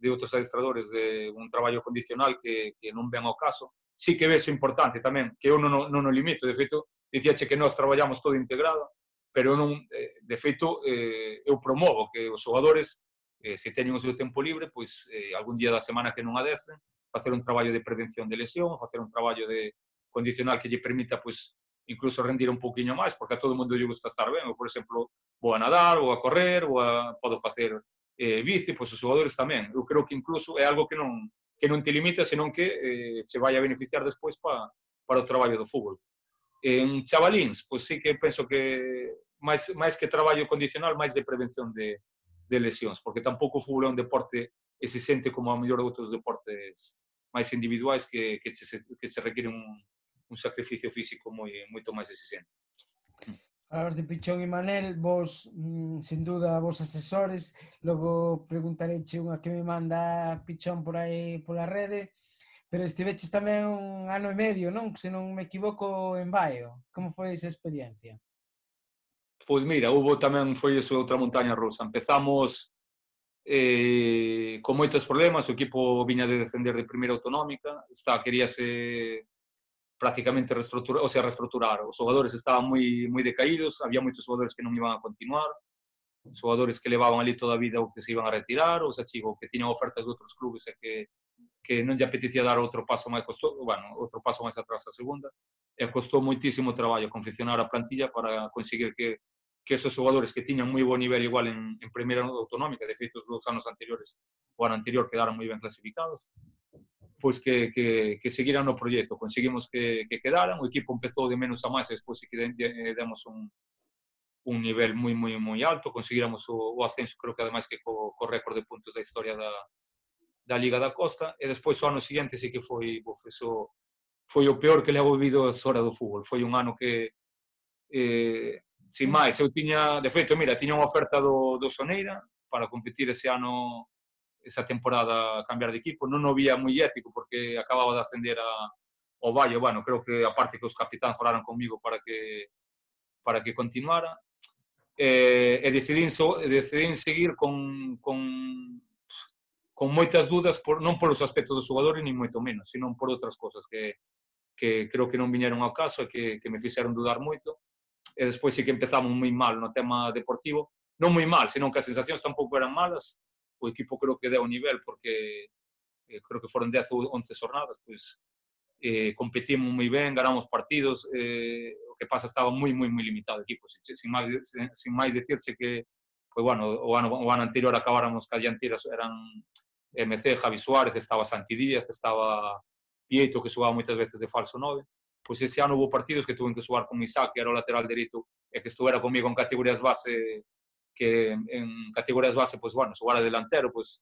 de outros adestradores de un traballo condicional que non ven ao caso, sí que ves o importante tamén, que eu non o limito, de feito, dicíache que nós traballamos todo integrado, pero non, de feito, eu promovo que os xogadores, se teñen o seu tempo libre, pois algún día da semana que non adestren, facer un traballo de prevención de lesión, facer un traballo de condicional que lle permita, pois, incluso rendir un pouquiño máis, porque a todo mundo lle gusta estar ben. Eu, por exemplo, vou a nadar, ou a correr, podo facer bici, pois os xogadores tamén. Eu creo que incluso é algo que non te limita, senón que se vai a beneficiar despois para o traballo do fútbol. En chavalíns, pois sí que penso que máis que traballo condicional, máis de prevención de lesións, porque tampouco o fútbol é un deporte exigente como a mellor outros deportes máis individuais que se requiren un sacrificio físico moito máis exigente. Falabas de Pichón e Manel, vos, sin duda, vos asesores, logo preguntareche unha que me manda Pichón por aí pola rede, pero estiveches tamén un ano e medio, non? Se non me equivoco, en Baio. Como foi esa experiencia? Pois mira, foi iso outra montaña rusa. Empezamos con moitos problemas, o equipo viña de descender de primeira autonómica, queríase prácticamente reestructurar. Os xogadores estaban moi decaídos, había moitos xogadores que non iban a continuar, xogadores que levaban ali toda a vida ou que se iban a retirar, ou que tiñan ofertas de outros clubes e que non lle apetecía dar outro paso máis outro paso máis atrás a segunda, e costou moitísimo traballo confeccionar a plantilla para conseguir que esos xogadores que tiñan moi bo nivel igual en primeira autonómica, de feito os 2 anos anteriores, o ano anterior quedaron moi ben clasificados, pois que seguiran no proxecto. Conseguimos que quedaran, o equipo empezou de menos a máis e despois que demos un nivel moi alto, conseguiramos o ascenso, creo que ademais que co récord de puntos da historia da Liga da Costa, e despois o ano seguinte sí que foi o peor que levo vivido a história do fútbol. Foi un ano que, sin máis, eu tiña, de feito, mira, tiña unha oferta do Soneira para competir ese ano, esa temporada, cambiar de equipo. Non o vía moi ético porque acababa de ascender ao Valle. Bueno, creo que aparte que os capitáns falaron comigo para que continuara, e decidín seguir con moitas dudas, non polos aspectos dos xogadores, nin moito menos, sino por outras cosas que creo que non viñeron ao caso e que me fixeron dudar moito. E despois sí que empezamos moi mal no tema deportivo, non moi mal, senón que as sensacións tampouco eran malas, o equipo creo que deu nivel porque creo que foron 10 ou 11 jornadas, pois competimos moi ben, ganamos partidos, o que pasa estaba moi limitado o equipo, sin máis decirse que, pois, bueno, o ano anterior acabáramos ca dianteira, eran MC, Javi Suárez, estaba Santi Díaz, estaba Pieto, que xogaba moitas veces de falso 9, pois ese ano hubo partidos que tuven que xogar con Isaac, que era o lateral dereito, e que estuvera comigo en categorías base, que en categorías base, pois, bueno, xogara delantero, pois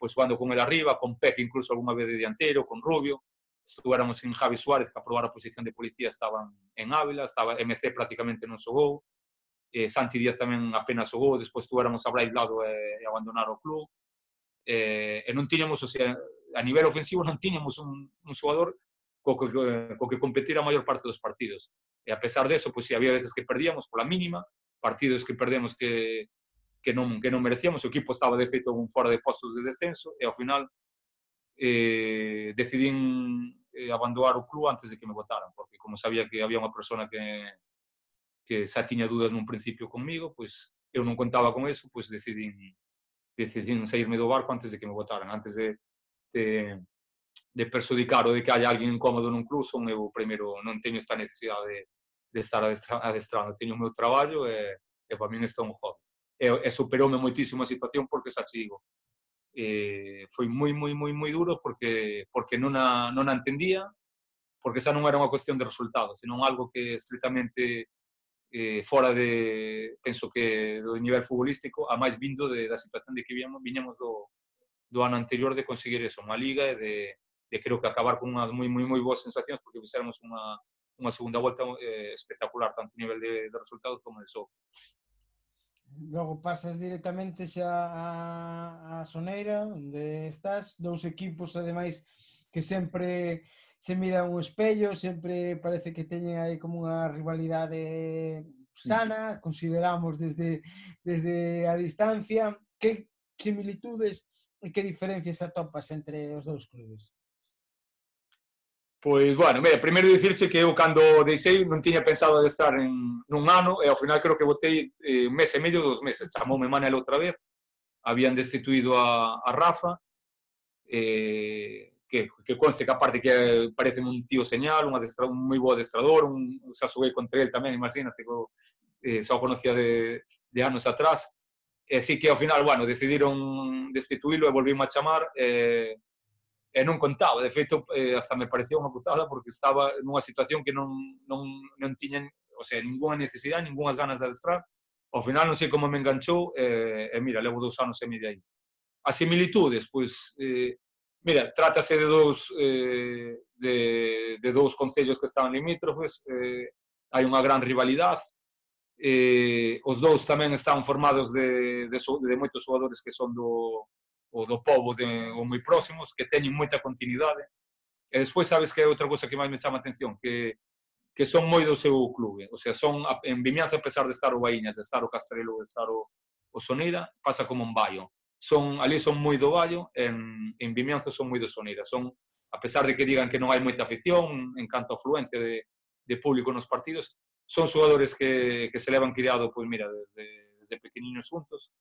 xogando con el arriba, con Pepe incluso algunha vez de dianteiro, con Rubio, estuvéramos sin Javi Suárez, que a probar a posición de policía estaban en Ávila, estaba MC prácticamente non xogou, Santi Díaz tamén apenas xogou, despois estuvéramos a Brais Lado e abandonar o club, e non tiñamos, o sea, a nivel ofensivo non tiñamos un xogador co que competir a maior parte dos partidos. E a pesar de eso, pois, si había veces que perdíamos pola mínima, partidos que perdemos que non merecíamos, o equipo estaba de feito fora de postos de descenso, e ao final decidín abandonar o club antes de que me votaran, porque como sabía que había unha persona que xa tiña dudas nun principio conmigo, pois eu non contaba con eso, pois decidín saírme do barco antes de que me votaran, antes de perjudicar ou de que haya alguén incómodo nun club. Son eu primeiro, non teño esta necesidade de estar adestrando, teño o meu traballo e para min isto é un hobby. E superoume moitísimo a situación porque xa te digo, foi moi duro porque non a entendía, porque xa non era unha cuestión de resultados, senón algo que estritamente fora penso que do nivel futbolístico, a máis vindo da situación de que viñamos do ano anterior de conseguir eso, unha liga e de creo que acabar con unhas moi boas sensacións porque fixéramos unha segunda volta espectacular, tanto a nivel de resultados como de xogo. Logo pasas directamente xa a Soneira, onde estás, dous equipos ademais que sempre se miran un espello, sempre parece que teñen aí como unha rivalidade sana, consideramos desde a distancia. Que similitudes e que diferencias atopas entre os dous clubes? Pois, bueno, mira, primeiro dicirche que eu cando deixei non tiña pensado de estar nun ano e ao final creo que botei un mes e medio, 2 meses. Chamoume Manel outra vez, habían destituído a Rafa, que conste que aparte que parece un tío señal, un moi bo adestrador, xa xoguei contra ele tamén, imagínate, xa o conocía de anos atrás, e sí que ao final, bueno, decidiron destituílo e volvíme a chamar, e non contaba, de feito, hasta me parecía unha putada porque estaba nunha situación que non tiñan, o sea, ninguna necesidade, ningunhas ganas de adestrar. Ao final non sei como me enganchou e mira, levo 2 anos e medio aí. As similitudes, pois, mira, trátase de dous concellos que estaban limítrofes, hai unha gran rivalidade, os dous tamén están formados de moitos xogadores que son do pobo ou moi próximos, que teñen moita continuidade, e despois sabes que é outra cosa que máis me chama a atención, que son moi do seu clube, o sea, son en Vimianzo, a pesar de estar o Baíñas, de estar o Castrelo, de estar o Soneira, pasa como en Baio, ali son moi do Vallo, en Vimianzo son moi do Soneira. Son, a pesar de que digan que non hai moita afición en canto a afluencia de público nos partidos, son xogadores que se levan criado, pois mira, desde pequeniños juntos,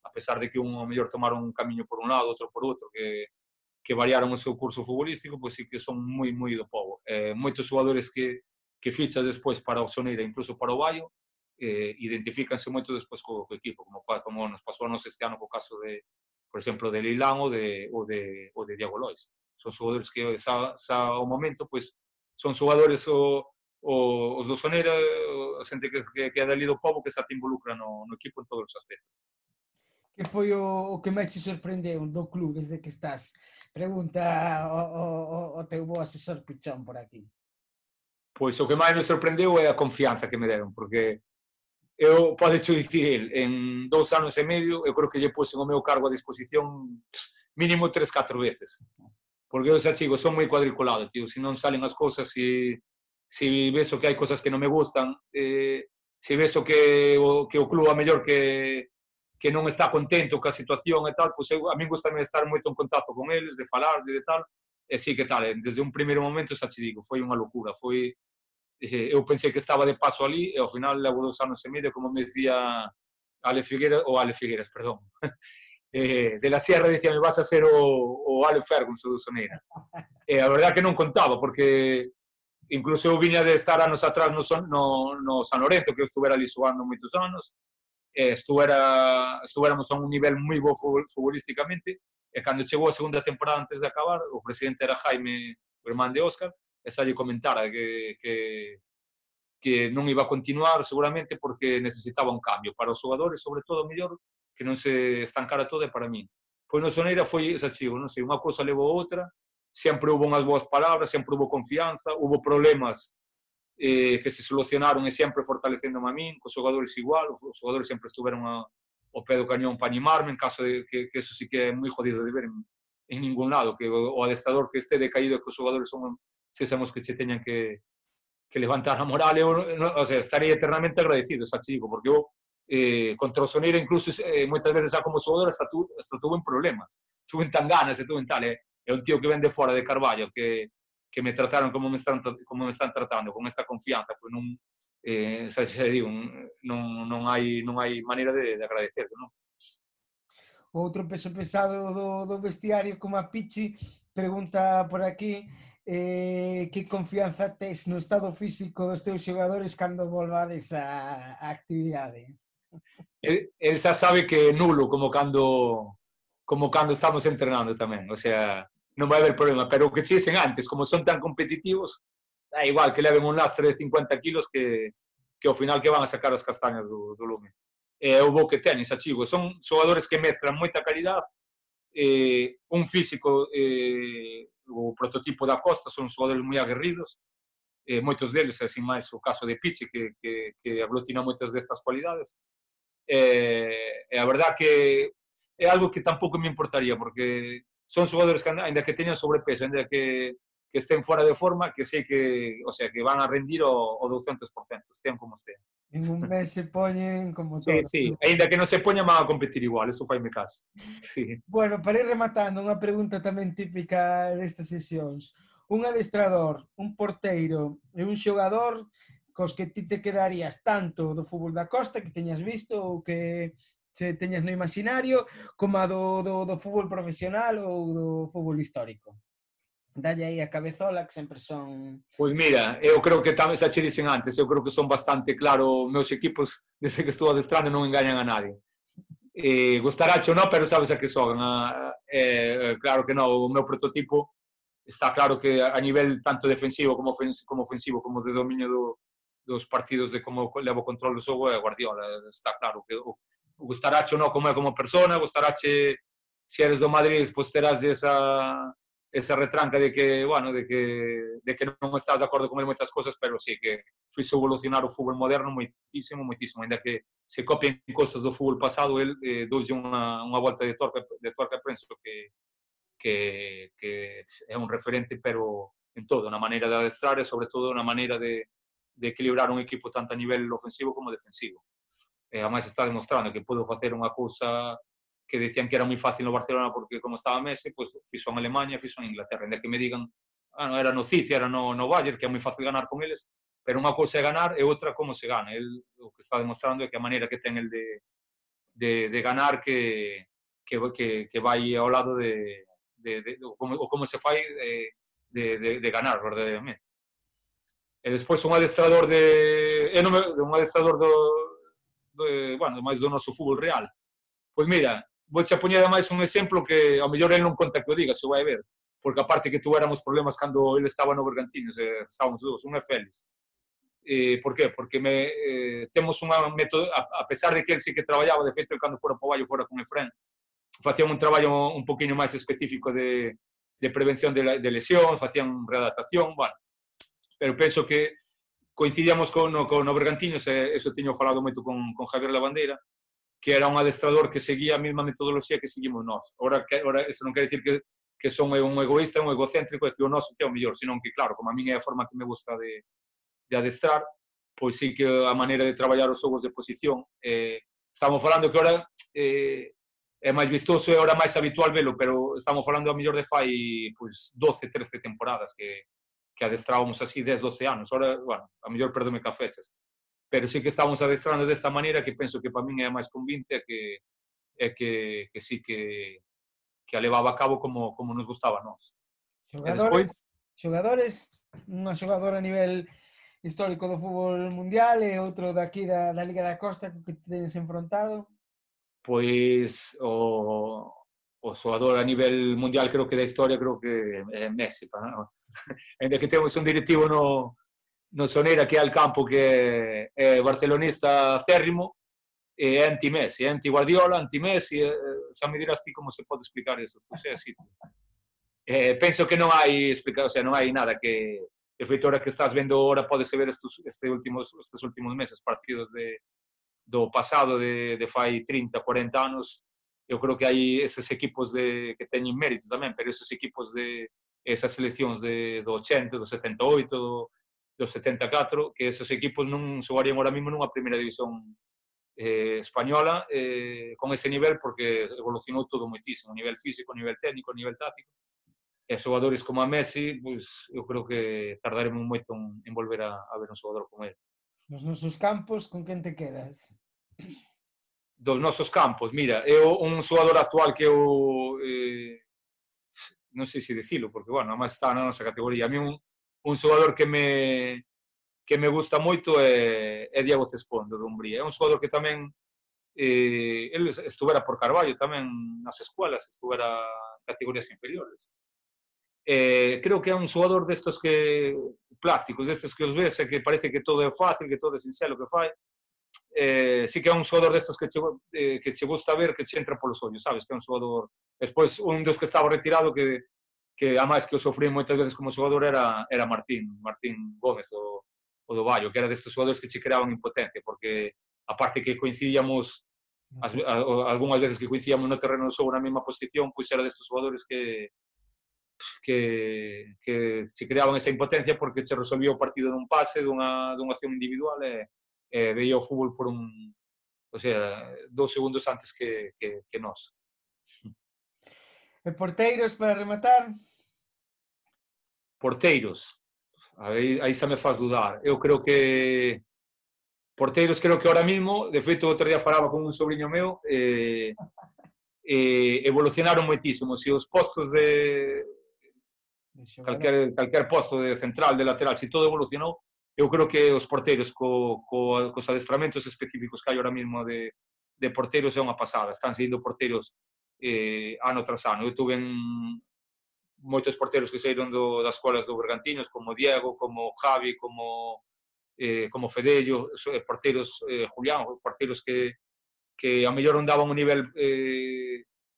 a pesar de que un ao mellor tomaron un camiño por un lado, outro por outro, que variaron o seu curso futbolístico, pois sí que son moi do povo. Moitos xogadores que fichas despois para o Soneira, incluso para o Vallo, identifícanse moito despois co equipo, como nos pasou a nos este ano co caso de, por exemplo, de Leilán ou de Diego Lois. Son xogadores que xa ao momento, pois, son xogadores os do Soneira, a xente que é dali do povo que xa te involucra no equipo en todos os aspectos. Que foi o que máis te sorprendeu do club desde que estás? Pregunta o teu bo asesor Pichón por aquí. Pois o que máis me sorprendeu é a confianza que me deron, porque eu, podecho dicir el, en 2 anos e medio, eu creo que lle puse o meu cargo a disposición mínimo 3-4 veces. Porque eu xa chigo, son moi cuadriculado, tío, se non salen as cousas, se veso que hai cosas que non me gustan, se veso que o club a mellor que non está contento ca situación e tal, pois a mí gustame estar moito en contacto con eles, de falar, de tal, e sí que tal, desde un primeiro momento xa che digo, foi unha locura, eu pensei que estaba de paso ali e ao final levo 2 anos e medio, como me decía Ale Figueras, perdón, de la Sierra dicía, me vas a ser o Ale Ferguson do Soneira. E a verdade que non contaba, porque incluso eu viña de estar anos atrás no San Lorenzo, que eu estuvera ali xogando moitos anos, estuéramos a un nivel moi bo futbolísticamente, e cando chegou a segunda temporada antes de acabar, o presidente era Jaime, o irmán de Óscar, e xa lle comentara que non iba a continuar seguramente porque necesitaba un cambio para os xogadores, sobre todo, mellor, que non se estancara todo, e para min. Pois no Soneira foi esa chivo, non sei, unha cousa levou a outra, sempre hubo unhas boas palabras, sempre hubo confianza, hubo problemas que se solucionaron e sempre fortalecéndome a min, cos xogadores igual, os xogadores sempre estuveron ao pé do cañón para animarme, en caso de que eso sí que é moi jodido de ver en ningún lado, que o adestrador que este decaído, que os xogadores son sésamos que che teñan que levantar a moral, eu, o sea, estarei eternamente agradecido, xa chico, porque eu contra o Soneira incluso moitas veces xa como xogador hasta tuve en problemas, tuve en tan ganas e tuve en tal, é un tío que ven de fora de Carballo, que me trataron como me están tratando, con esta confianza, pois non, xa digo, non hai maneira de agradecer, non? Outro peso pesado do vestiario como a Pichi pregunta por aquí que confianza tes no estado físico dos teus xogadores cando volvades á actividade? El xa sabe que é nulo como cando estamos entrenando tamén, o sea, non vai haber problema, pero o que che dicen antes, como son tan competitivos, da igual que leven un lastre de 50 kilos que ao final que van a sacar as castañas do lume. É o bo que teñen, xa chigo, son xogadores que mezclan moita calidad, un físico, o prototipo da Costa, son xogadores moi aguerridos, moitos deles, así máis o caso de Pichi, que aglutina moitas destas cualidades, e a verdad que é algo que tampouco me importaría, porque son xogadores que, ainda que teñan sobrepeso, ainda que estén fora de forma, que sei que, o sea, que van a rendir o 200%, estean como estean. En un mes se poñen como Sí, todos. sí, ainda que non se poñan, van a competir igual, eso faime caso. Sí. Bueno, para ir rematando, unha pregunta tamén típica destas sesións. Un adestrador, un porteiro e un xogador cos que ti te quedarías tanto do fútbol da Costa que teñas visto ou que se teñas no imaginario como a do fútbol profesional ou do fútbol histórico. Dalle aí a cabezola que sempre son... Pois mira, eu creo que tamén xa che dicen antes, eu creo que son bastante claro, meus equipos desde que estou adestrando non engañan a nadie. Gustaracho non, pero sabes a que xogan. Claro que non, o meu prototipo está claro que a nivel tanto defensivo como ofensivo, como de dominio dos partidos, de como levo control do xogo, é Guardiola. Está claro que o Gustaracho non como é como persona, Gustarache, se eres do Madrid, pois terás esa retranca de que, bueno, de que non estás de acordo con ele moitas cosas, pero sí que fixe evolucionar o fútbol moderno moitísimo, ainda que se copien cosas do fútbol pasado, el doulle unha volta de torca, penso que é un referente, pero en todo, na maneira de adestrar e sobre todo na maneira de equilibrar un equipo tanto a nivel ofensivo como defensivo. E ademais está demostrando que pode facer unha cousa que decían que era moi fácil no Barcelona porque como estaba Messi, pois fixo en Alemania, fixo en Inglaterra, ainda que me digan, non era no City, era no Bayern, que é moi fácil ganar con eles, pero unha cousa é ganar e outra como se gana. El o que está demostrando é que a maneira que ten el de ganar que vai ao lado como se fai de ganar verdadeiramente. E despois un adestrador un adestrador bueno, máis do noso fútbol real. Pois mira, vou che poñer máis un exemplo que ao mellor el non conta que o diga, se vai ver, porque aparte que tuéramos problemas cando ele estaba no Bergantiños, estábamos dous, un é Félix. Por qué? Porque temos unha método, a pesar de que ele sí que traballaba, de feito, cando fora po Baio, fora con Efrén, facían un traballo un poquinho máis específico de prevención de lesións, facían readaptación, bueno, pero penso que coincidíamos no Bergantiños, e eso tiño falado moito con Javier Lavandeira, que era un adestrador que seguía a mesma metodoloxía que seguimos nós. Ora isto non quer dicir que son un egoísta, un egocéntrico, e que o noso que é o mellor, senón que, claro, como a min é a forma que me gusta de adestrar, pois sí que a maneira de traballar os xogos de posición, estamos falando que ora é máis vistoso e ora máis habitual velo, pero estamos falando a mellor de fai pois 12, 13 temporadas que adestrábamos así 10, 12 anos. Ora, bueno, a mellor perdome ca fechas, pero sí que estamos adestrando desta maneira que penso que para min é máis convinte e que sí que a levaba a cabo como nos gustaba a nós. Xogadores, unha xogadora a nivel histórico do fútbol mundial e outro daqui da Liga da Costa que tenes enfrontado? Pois o xogador a nivel mundial creo que da historia creo que é Messi, ainda que temos un directivo no Soneira que é al campo que é barcelonista acérrimo, é anti-Messi, é anti-Guardiola, anti-Messi, xa me dirás ti como se pode explicar eso, pois é así. Penso que non hai explicación, o sea, non hai nada que, de feito, ahora que estás vendo, ahora podese ver estes últimos meses, partidos do pasado de fai 30, 40 anos, eu creo que hai eses equipos que teñen mérito tamén, pero esos equipos esas seleccións do 80, do 78, do 74, que esos equipos non xogarían ahora mesmo nunha primeira división española con ese nivel, porque evolucionou todo moitísimo, a nivel físico, a nivel técnico, a nivel táctico, e xogadores como a Messi, pois eu creo que tardaremos moito en volver a ver un xogador como ele. Nos nosos campos, con quen te quedas? Dos nosos campos, mira, eu un xogador actual que eu non sei se dicilo, porque, bueno, además está na nosa categoría. A mí un xogador que me gusta moito é Diego Cespón, do Dumbría. É un xogador que tamén ele estuvera por Carballo tamén nas escuelas, estuvera en categorías inferiores. Creo que é un xogador destos que plásticos, destos que os ves e que parece que todo é fácil, que todo é sinxelo que fai. Sí que é un xogador destos que che gusta ver, que che entra polos ollos, sabes? Que é un xogador... Despois, un dos que estaba retirado que a máis que o sofrí moitas veces como xogador era Martín Gómez, o do Baio, que era destes xogadores que che creaban impotencia, porque aparte que coincidíamos algunhas veces que coincidíamos no terreno do xogo na mesma posición, pois era destes xogadores que che creaban esa impotencia porque che resolvía o partido dun pase, dunha acción individual e veía o fútbol por o sea, 2 segundos antes que nós. E porteiros para rematar? Porteiros, aí xa me faz dudar. Eu creo que porteiros, creo que ahora mismo, de feito, outro día falaba con un sobrinho meu, evolucionaron moitísimo. Se os postos de calquer posto de central, de lateral, se todo evolucionou, eu creo que os porteiros cos adestramentos específicos que hai ahora mismo de porteiros é unha pasada. Están saindo porteiros ano tras ano. Eu tuve moitos porteiros que saíron das escolas do Bergantiños, como Diego, como Javi, como Fedello, porteiros Julián, porteiros que a mellor non daban un nivel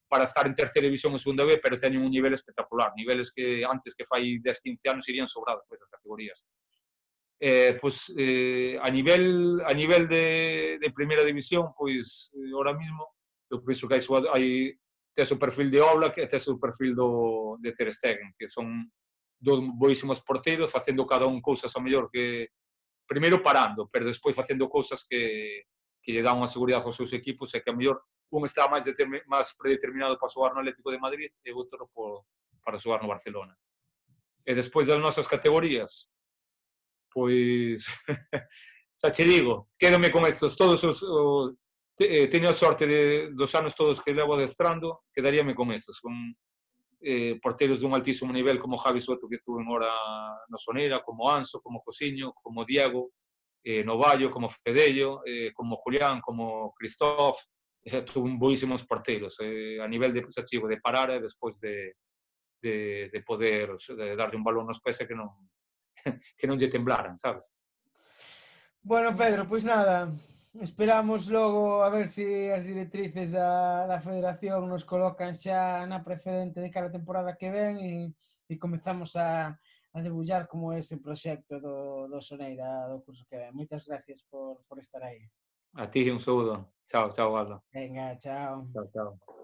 para estar en terceira división ou segunda B, pero teñen un nivel espectacular, niveles que antes que fai 10, 15 anos irían sobrados por esas categorías. Pois a nivel de primeira división, pois ahora mismo eu penso que hai tes o perfil de Oblak e tes o perfil de Ter Stegen, que son dos boísimos porteiros, facendo cada un cousas ao mellor que primeiro parando, pero despois facendo cousas que lle dan unha seguridade aos seus equipos e que a mellor un estaba máis predeterminado para xogar no Atlético de Madrid e outro para xogar no Barcelona. E despois das nosas categorías, pois, xa che digo, quédome con estos, todos teño a sorte dos anos todos que levo adestrando, quedaríame con estos, con porteros dun altísimo nivel como Javi Soto que tuve hora no Sonera, como Anso, como Josiño, como Diego, Novallo, como Fedello, como Julián, como Cristóf, tuve boísimos porteros a nivel de positivo, de parar e despois de poder de darlle un balón nos pés e que non que non lle temblaran, sabes? Bueno, Pedro, pois nada, esperamos logo a ver se as directrices da Federación nos colocan xa na precedente de cara a temporada que ven e comezamos a debullar como é ese proxecto do Soneira do curso que ven. Moitas gracias por estar aí. A ti un saúdo. Chao, chao, Alba. Venga, chao. Chao, chao.